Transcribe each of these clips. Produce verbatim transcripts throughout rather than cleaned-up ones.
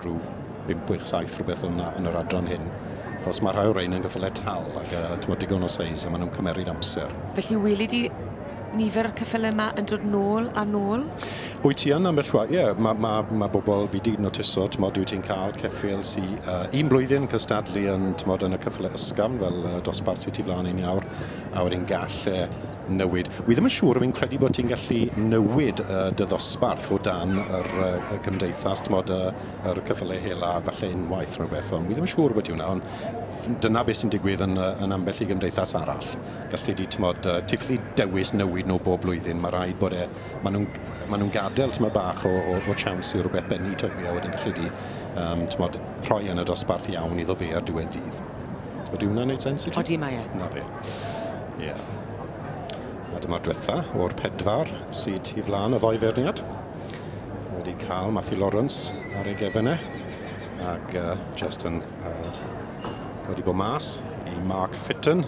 rhyw bump, chwech, saith rhywbeth yna yn yr adran hyn. Achos mae rhai o'r rhain yn gyffyle tal ac uh, tymod, digon o seis a maen nhw'n cymeryd amser. Felly weli di nifer o'r ceffyle yma yn dod nôl a nôl? Wyt ti yn ambell waith, ie, yeah, mae ma, ma bobl fi di notiso, tymod, dwi ti'n cael ceffyl sy uh, un blwyddyn cystadlu yn, tymod, yn y ceffyle ysgafn fel uh, dosbarth sydd tu flaen i ni nawr, a wedyn gall e newid. Wi ddim yn siŵr, fi'n credu bod ti'n gallu newid uh, dy ddosbarth o dan yr uh, y cymdeithas, tymod, uh, yr ceffyle hela falle unwaith rhywbeth, ond wi ddim yn siŵr bod hwnna, ond dyna beth sy'n digwydd yn, yn ambell i gymdeithas arall. Gallu di, tymod, uh, ti ffili dewis newid nhw bob blwyddyn, mae rhaid bod e, maen nhw'n ma nhw gadael tymod bach o, o, o chance i rhywbeth bennu tyfu, a wedyn gallu di um, tymod, rhoi yn y dosbarth iawn iddo fe ar diwedd dydd. Ydy hwnna'n neud sens i ti? Odi mae e. Na fe. Ie. Yeah. A dyma'r diwetha o'r pedwar sydd tu flaen y ddoi feirniad. Wedi cael Matthew Lawrence ar ei gefn e, ac uh, just yn uh, wedi bod mas i Mark Fitton.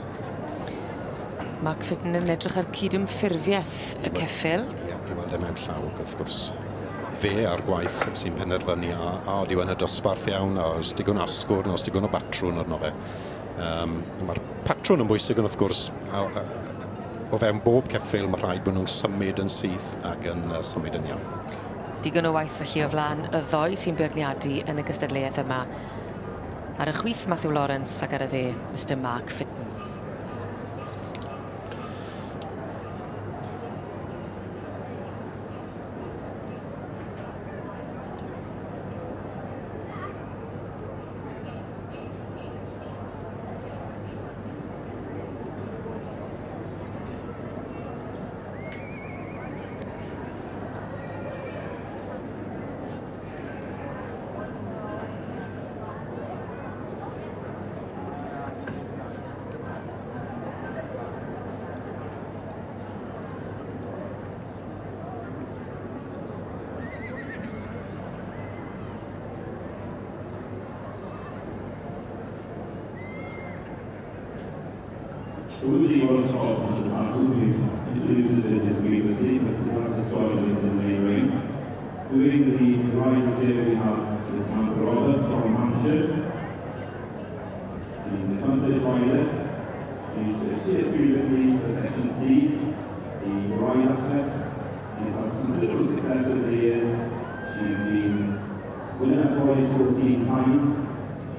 Mark Fitton yn edrych ar cydymffurfiaeth y ceffyl. Ie, i weld e mewn llaw, wrth gwrs. Fe a'r gwaith sy'n penderfynu a, a yw yn y dosbarth iawn, a oes digon asgwrn, oes digon o batrwn arno fe. Um, Mae'r patrwn yn bwysig, ond wrth gwrs, a, a, o fewn bob ceffyl mae rhaid bod nhw'n symud yn syth ac yn uh, symud yn iawn. Digon o waith felly o flaen y ddoi sy'n beirniadu yn y gystadleuaeth yma. Ar y chwith Matthew Lawrence ac ar y dde Mister Mark Fitton. So with the Welsh Hobbs and the saddle, we've introduced the judges previously, but we have just joined us in the main ring. Doing the rides here, we have Samantha Roberts from Hampshire. She's an accomplished rider. She's judged here previously for Section C's, the ride aspect. She's had considerable success over the years. She's been winner twice fourteen times.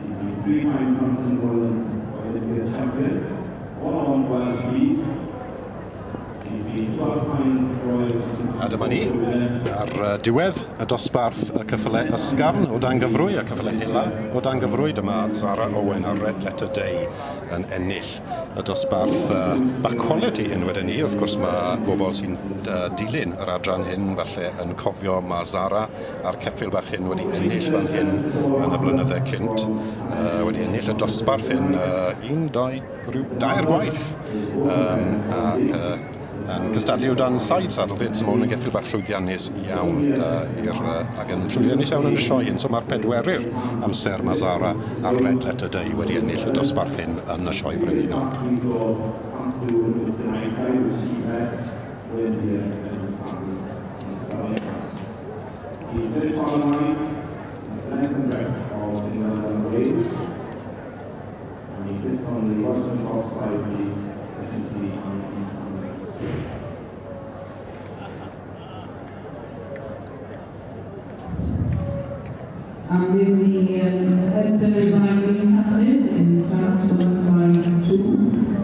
She's been three times Mountain World Olympic champion. One on Welsh Bees. She's been twelve times Royal. A dyma ni, ar diwedd y dosbarth y cyffyle ysgafn o dan gyfrwy, y cyffyle hela o dan gyfrwy. Dyma Zara Owen ar Red Letter Day yn ennill y dosbarth uh, bach quality hyn wedyn ni. Wrth gwrs mae bobl sy'n uh, dilyn yr adran hyn falle yn cofio mae Zara a'r ceffyl bach hyn wedi ennill fan hyn yn y blynydde cynt. Uh, wedi ennill y dosbarth hyn uh, un, dau, rhyw dair gwaith. Um, ac, uh, yn cystadlu o dan side saddle fyd, so mae hwn yn geffyl bach llwyddiannus iawn uh, i'r, uh, ac yn llwyddiannus iawn yn y sioe hyn. So mae'r pedwerydd amser mae Zara ar Red Letter Day wedi ennill y dosbarth hyn yn y sioe frenhinol. And in the um, hunter riding classes, in class one five two,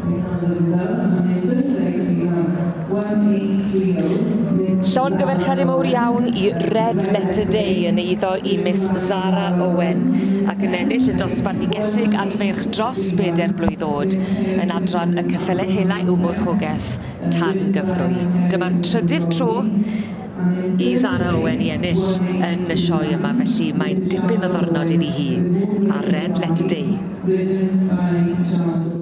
we have the result. And in first place we have one eight three oh, Miss Llongyfarchiadau mawr iawn i Red Letter Day yn eiddo i Miss Zara Owen ac yn ennill y dosbarth i gesig adfeirch dros bedair blwydd oed yn adran y cyffyle hela yw Mwrchogeth tan gyfrwy. Dyma'r trydydd tro i Zara Owen i ennill yn y sioe yma, felly mae'n dipyn o ddornod iddi hi ar Red Letter Day. Ridden by Charles.